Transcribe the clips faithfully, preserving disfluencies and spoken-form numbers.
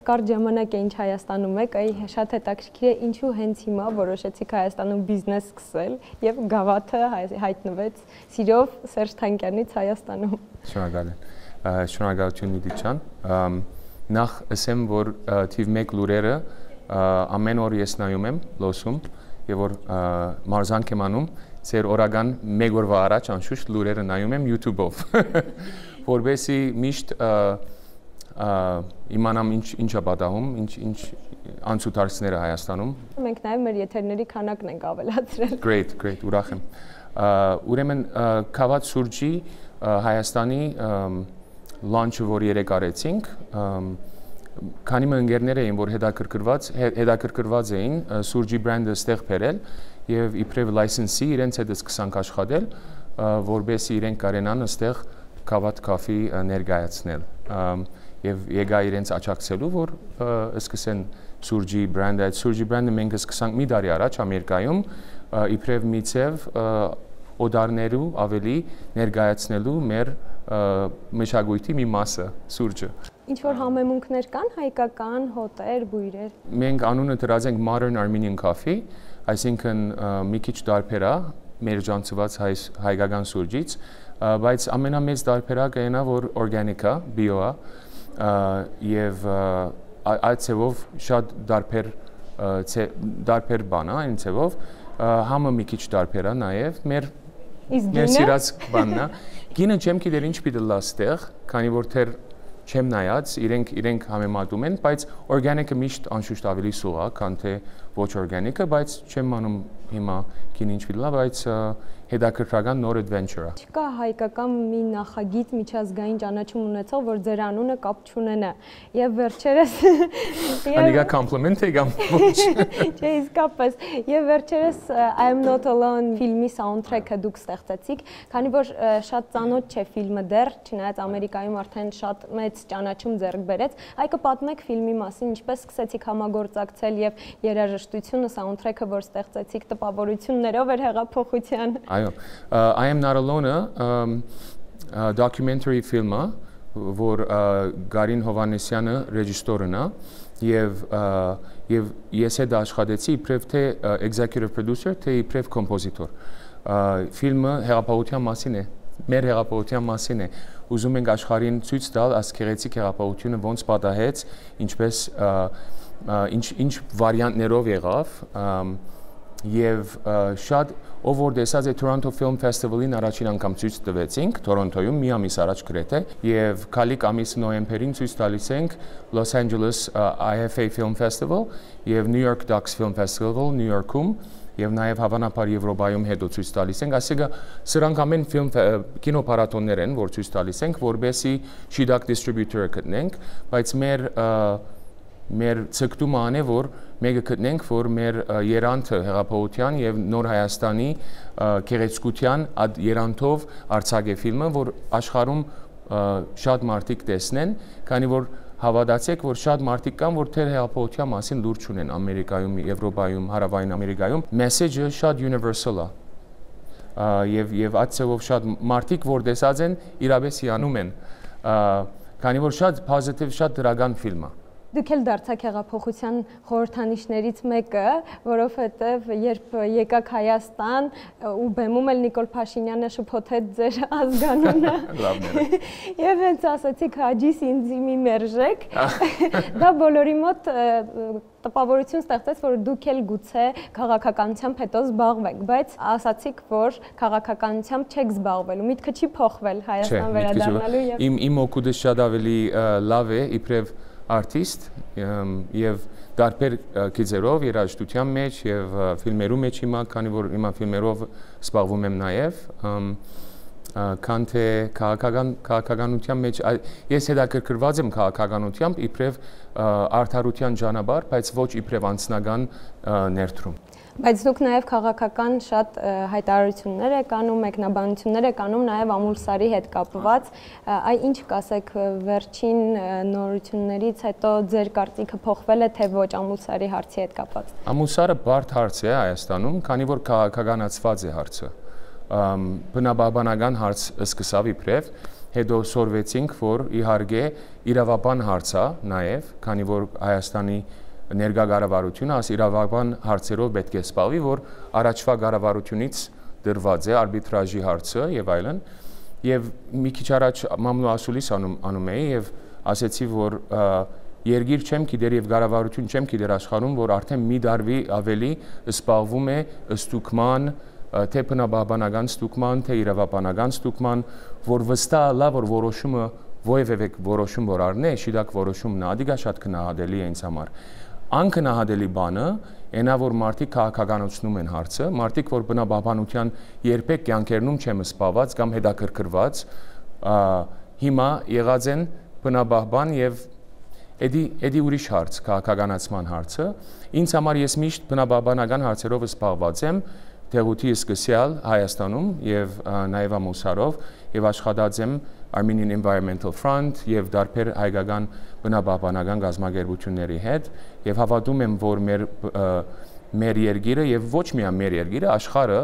Կարճ ժամանակ է ինչ Հայաստանում եք, այ շատ հետաքրքիր է ինչու հենց հիմա որոշեցիք Հայաստանում բիզնես սկսել եւ գավաթը հայտնվեց սիրով Սերժ Թանկյանից Հայաստանում։ Շնորհակալ եմ։ Շնորհակալություն Նիդի ջան։ Նախ ասեմ, որ թիվ մեկ լուրերը ամեն օր ես նայում եմ, լսում եւ որ մարզանք եմ անում, ծեր օրական մեկ օրվա առաջ անշուշտ լուրերը նայում եմ YouTube-ով, որովհետեւ միշտ իմանամ ինչ ինչա պատահում, ինչ ինչ անցուդարձները Հայաստանում։ Մենք նաև մեր եթերների քանակն ենք ավելացրել։ Great, great, ուրախ եմ։ Ուրեմն Քավաթ սուրճի Հայաստանի launch-ը որ երեք արեցինք, քանի մի ընկերներ էին, որ հետաքրքրված հետաքրքրված էին սուրճի բրենդը ստեղ բերել եւ իբրև լայսենսի իրենց հետ սկսանք աշխատել, որբեսի իրենք կարենան ստեղ Քավաթ կաֆի ներկայացնել։ Եվ եկա իրենց աճակցելու, որ սկսեն սուրճի բրենդը, այդ սուրճի բրենդը մենք սկսանք մի տարի առաջ Ամերիկայում, իբրև մի ցև օդարներու ավելի ներկայացնելու մեր մշակույթի մի մասը սուրճը։ Ինչ որ համեմունքներ կան հայկական հոտեր, բույրեր։ Մենք անունը դրած ենք Modern Armenian Coffee, այսինքն մի քիչ տարբեր է մեր ջանցված հայկական սուրճից, բայց ամենամեծ տարբերակը այն է, որ օրգանիկ է, բիո է, եւ այդ ցևով շատ դարբեր դարբեր բան է, այն ցևով համը մի քիչ դարբեր է նաեւ մեր մեր սիրած բանն է։ Գինը չեմ գիտեր ինչ պիտի լա ստեղ, քանի որ թեր չեմ նայած, իրենք իրենք համեմատում են, բայց օրգանիկը միշտ անշուշտ ավելի սուղ է, քան թե ոչ օրգանիկը, բայց չեմ անում հիմա գինը ինչ պիտի լա, բայց հետաքրքրական նոր adventure-ը։ Չկա հայկական մի նախագիծ միջազգային ճանաչում ունեցող, որ ձեր անունը կապ չունենա։ Եվ վերջերս Անիգա compliment եկամ ոչ։ Չէ, իսկապես։ Եվ վերջերս I am not alone ֆիլմի soundtrack-ը դուք ստեղծեցիք, քանի որ շատ ծանոթ չէ ֆիլմը դեռ, չնայած Ամերիկայում արդեն շատ մեծ ճանաչում ձեռք բերեց։ Այ կպատմեք ֆիլմի մասին, ինչպես սկսեցիք համագործակցել եւ երաժշտությունը, soundtrack-ը, որ ստեղծեցիք, տպավորություններով էր հեղափոխության։ Այո, I am not alone-ը documentary ֆիլմ է, որ Գարին Հովհաննիսյանը ռեժիսորն է եւ եւ ես հետ աշխատեցի իբրև թե executive producer, թե իբրև կոմպոզիտոր։ Ֆիլմը հեղափոխության մասին է, մեր հեղափոխության մասին է։ Ուզում ենք աշխարհին ցույց տալ ասկերեցիկ հեղափոխությունը ոնց պատահեց, ինչպես ինչ ինչ վարիանտներով եղավ եւ շատ ով որ տեսած է Toronto Film Festival-ին առաջին անգամ ցույց տվեցինք Թորոնտոյում մի ամիս առաջ գրեթե եւ քալիկ ամիս նոյեմբերին ցույց տալիս ենք Los Angeles I F A Film Festival եւ New York Docs Film Festival New York-ում եւ նաեւ հավանաբար Եվրոպայում հետո ցույց տալիս ենք, այսինքն սրանք ամեն ֆիլմ կինոփառատոններ են, որ ցույց տալիս ենք, որբեսի շիդակ դիստրիբյուտորը գտնենք, բայց մեր մեր ցկտումը ան է, որ մեկը գտնենք, որ մեր երանքը հեղափոխության եւ նոր Հայաստանի գեղեցկության այդ երանթով արձակե ֆիլմը, որ աշխարհում շատ մարդիկ տեսնեն, քանի որ հավատացեք, որ շատ մարդիկ կան, որ թեր հեղափոխության մասին լուրջ ունեն Ամերիկայում, Եվրոպայում, Հարավային Ամերիկայում, մեսեջը շատ universal է։ Եվ եւ այդ ցավով շատ մարդիկ, որ տեսած են, իրապես հիանում են, քանի որ շատ positive, շատ դրական ֆիլմ է։ Դուք էլ դարձաք հեղափոխության խորհրդանիշներից մեկը, որովհետև երբ եկաք Հայաստան ու բեմում էլ Նիկոլ Փաշինյանը շփոթեց ձեր ազգանունը։ Լավն է։ Եվ հենց ասացիք հաջիս ինձ մի մերժեք։ Դա բոլորի մոտ տպավորություն ստեղծեց, որ դուք էլ գուցե քաղաքականությամբ հետո զբաղվեք, բայց ասացիք, որ քաղաքականությամբ չեք զբաղվելու, միտքը չի փոխվել Հայաստան վերադառնալու եւ Իմ իմ օգուտը շատ ավելի լավ է, իբրև artist եւ դարբեր գիծերով երաժշտության մեջ եւ ֆիլմերու մեջ հիմա, քանի որ հիմա ֆիլմերով զբաղվում եմ նաեւ քան թե քաղաքական քաղաքականության մեջ ես հետաքրքրված եմ քաղաքականությամբ իբրև արդարության ճանապարհ, բայց ոչ իբրև անձնական ներդրում։ Բայց դուք նաև քաղաքական շատ հայտարարություններ եք անում, մեկնաբանություններ եք անում նաև Ամուլսարի հետ կապված, այ ինչ կասեք վերջին նորություններից հետո ձեր կարծիքը փոխվել է թե ոչ Ամուլսարի հարցի հետ կապված։ Ամուլսարը բարդ հարց է Հայաստանում, քանի որ քաղաքականացված է հարցը։ Բնաբանական հարց սկսավ իբրև, հետո սորվեցինք, որ իհարկե իրավաբան հարցա նաև, քանի որ Հայաստանի ներկա կառավարությունը այս իրավաբան հարցերով պետք է զբաղվի, որ առաջվա կառավարությունից դրված է արբիտրաժի հարցը եւ այլն։ Եվ մի քիչ առաջ մամլո ասուլիս անում, անում էի եւ ասեցի, որ երկիր չեմ գիտեր եւ կառավարություն չեմ գիտեր աշխարհում, որ արդեն մի դարվի ավելի զբաղվում է ստուգման, թե բնաբանական ստուգման, թե իրավաբանական ստուգման, որ վստահ լա, որ որոշումը ովևէ որոշում որ առնե, շիդակ որոշումն է, դա շատ քննադատելի է ինձ համար։ Անկնահատելի բանը այնա որ մարդիկ քաղաքականացնում են հարցը, մարդիկ որ բնաբանության երբեք կյանքերնում չեմ զբաղված կամ հետաքրքրված, հիմա եղած են բնաբան եւ էդի էդի ուրիշ հարց, քաղաքականացման հարցը։ Ինձ համար ես միշտ բնաբանական հարցերով զբաղված եմ, տեղույթի սկսյալ Հայաստանում եւ նաեւ ամուսարով եւ աշխատած եմ Armenian Environmental Front եւ դարբեր հայկական բնաբանական գազագերբությունների հետ եւ հավատում եմ, որ մեր մեր երկիրը եւ ոչ միայն մեր երկիրը, աշխարհը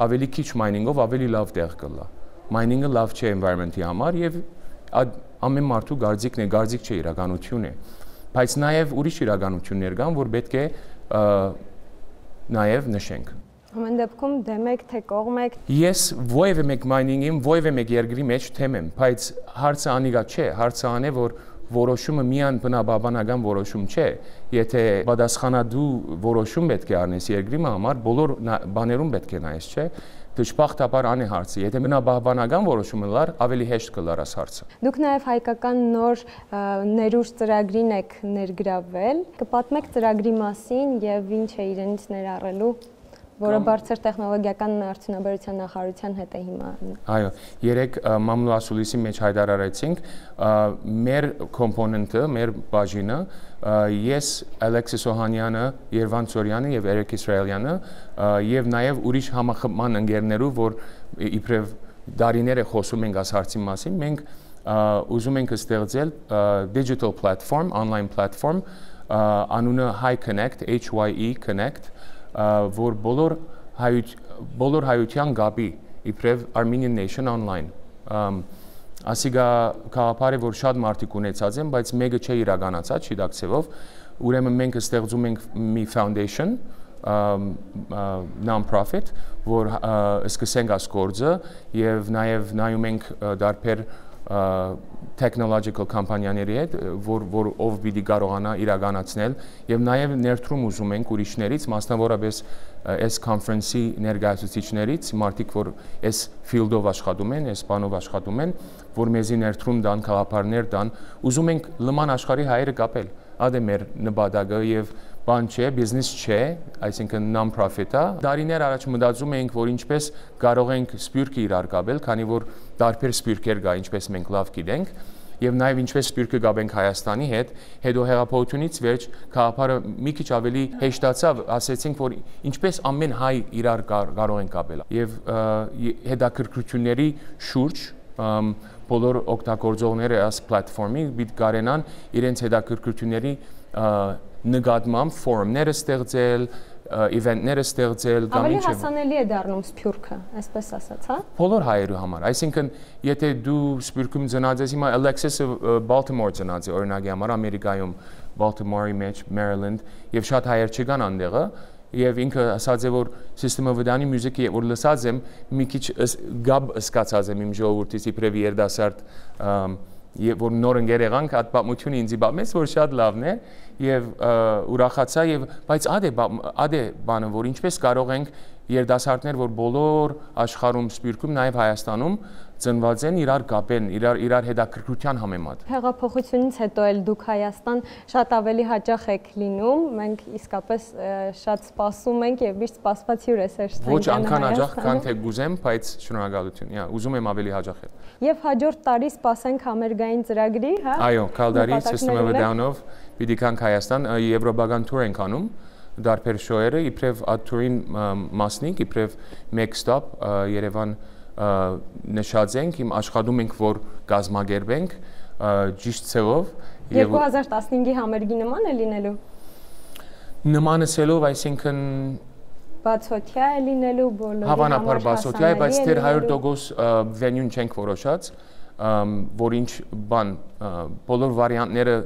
ավելի քիչ մայնինգով ավելի լավ տեղ կլա։ Մայնինգը լավ չէ environment-ի համար եւ ամեն մարդու գարձիկն է, գարձիկ չէ իրականություն է։ Բայց նաեւ ուրիշ իրականություններ կան, որ պետք է նաեւ նշենք։ Ամեն դեպքում դեմ եք, թե կողմ եք։ Ես ովևէ մեկ մայնինգին, ովևէ մեկ երկրի մեջ թեմ եմ, բայց հարցը անիկա չէ, հարցը ան է, որ որոշումը միայն բնաբանական որոշում չէ, եթե պատասխանատու որոշում պետք է առնես երկրի համար, բոլոր բաներում պետք է նայես, չէ։ Դժբախտաբար ան է հարցը, եթե բնաբանական որոշումը լար, ավելի հեշտ կլար այս հարցը։ Դուք նաև հայկական նոր ներուժ ծրագրին եք ներգրավել, կպատմեք ծրագրի մասին եւ ինչ է իրենից ներառելու, որը բարձր տեխնոլոգիական արդյունաբերության նախարարության հետ է հիմա։ Այո, երեք մամլո ասուլիսի մեջ հայտարարեցինք մեր կոմպոնենտը, մեր բաժինը, ես Ալեքսիս Օհանյանը, Երվան Ծորյանը եւ Էրիկ Իսրայելյանը եւ նաեւ ուրիշ համախմբման ընկերներով, որ իբրև դարիներ է խոսում ենք այս հարցի մասին, մենք ուզում ենք ստեղծել digital platform, online platform, անունը Hi Connect, H Y E Connect, որ բոլոր բոլոր հայության գաբի իբրև Armenian Nation Online ասիգա քաղաքարը որ շատ մարդիկ ունեցած են, բայց մեկը չէ իրականացած շիդակցեվով, ուրեմն մենք ստեղծում ենք մի foundation non-profit, որ սկսենք այս գործը եւ նաեւ նայում ենք դարբեր technological կամպանիաների հետ, որ որ ով պիտի կարողանա իրականացնել եւ նաեւ ներդրում ուզում ենք ուրիշներից, մասնավորապես այս conference-ի ներկայացուցիչներից, մարդիկ որ այս field-ով աշխատում են, այս բանով աշխատում են, որ մեզի ներդրում տան, քաղաքարներ տան, ուզում ենք լման աշխարհի հայերը կապել։ Ադե մեր նպատակը եւ բան չէ, բիզնես չէ, այսինքն non-profit է։ Դարիներ առաջ մտածում էինք, որ ինչպես կարող ենք սպյուրքը իրար կապել, քանի որ տարբեր սպյուրքեր կա, ինչպես մենք լավ գիտենք, եւ նաեւ ինչպես սպյուրքը կապենք Հայաստանի հետ, հետո հեղափոխությունից վերջ քաղաքարը մի քիչ ավելի հեշտացավ, ասեցինք, որ ինչպես ամեն հայ իրար կարող են կապել։ Եվ հետաքրքրությունների շուրջ բոլոր օգտագործողները այս պլատֆորմի պիտի կարենան իրենց հետաքրքրությունների նկատմամբ ֆորումները ստեղծել, իվենտները ստեղծել կամ ինչ։ Ավելի հասանելի է դառնում սփյուռքը, այսպես ասած, հա։ Բոլոր հայերու համար, այսինքն եթե դու սփյուռքում ծնած ես, հիմա Alexis-ը Baltimore ծնած է, օրինակի համար Ամերիկայում, Baltimore-ի մեջ, Maryland, եւ շատ հայեր չկան այնտեղը, եւ ինքը ասած է որ սիստեմը վդանի մյուզիկի որ լսած եմ մի քիչ գաբ սկացած եմ իմ ժողովրդից իբրև երդասարդ եւ որ նոր ընկեր եղանք այդ պատմությունը ինձ բամեց որ շատ լավն է եւ ուրախացա եւ բայց ադե ադե բանը որ ինչպես կարող ենք երդասարտներ որ բոլոր աշխարհում սպյուրքում նաեւ Հայաստանում ծնված են իրար կապեն իրար իրար հետաքրքրության համեմատ հեղափոխությունից հետո էլ դուք Հայաստան շատ ավելի հաճախ եք լինում մենք իսկապես շատ սպասում ենք եւ միշտ սպասված հյուր է Սերժ Սարգսյանը ոչ անկան հաճախ քան թե գուզեմ բայց շնորհակալություն իա ուզում եմ ավելի հաճախ էլ եւ հաջորդ տարի սպասենք համերգային ծրագրի հա այո Քալդարի System of a Down-ով պիտի կանք Հայաստան եվրոպական տուր ենք անում դարբեր շոուերը իբրև աթուրին մասնիկ իբրև մեկ ստոպ Երևան նշած ենք իմ աշխատում ենք որ գազմագերբենք ճիշտ ցեղով երկու հազար տասնհինգի համերգի նման է լինելու նմանսելով այսինքն բացօթյա է լինելու բոլորի հավանաբար բացօթյա է բայց դեռ հարյուր տոկոս վենյուն չենք որոշած որ ինչ բան բոլոր վարիանտները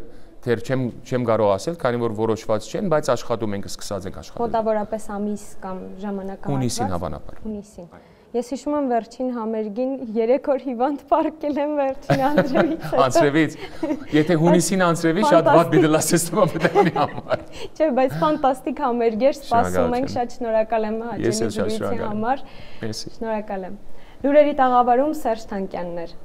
դեռ չեմ չեմ կարող ասել, քանի որ որոշված չեն, բայց աշխատում ենք, սկսած ենք աշխատել։ Մոտավորապես ամիս կամ ժամանակահատված։ Հունիսին հավանաբար։ Հունիսին։ Ես հիշում եմ վերջին համերգին երեք օր հիվանդ պարկել եմ վերջին անձրևից հետո։ Անձրևից։ Եթե հունիսին անձրևի շատ վատ դիտել ասեստոմա պետք է համար։ Չէ, բայց ֆանտաստիկ համերգ էր, սպասում ենք, շատ շնորհակալ եմ հաճելի զրույցի համար։ Շնորհակալ եմ։ Լուրերի տաղավարում Սերժ Թանկյանն էր։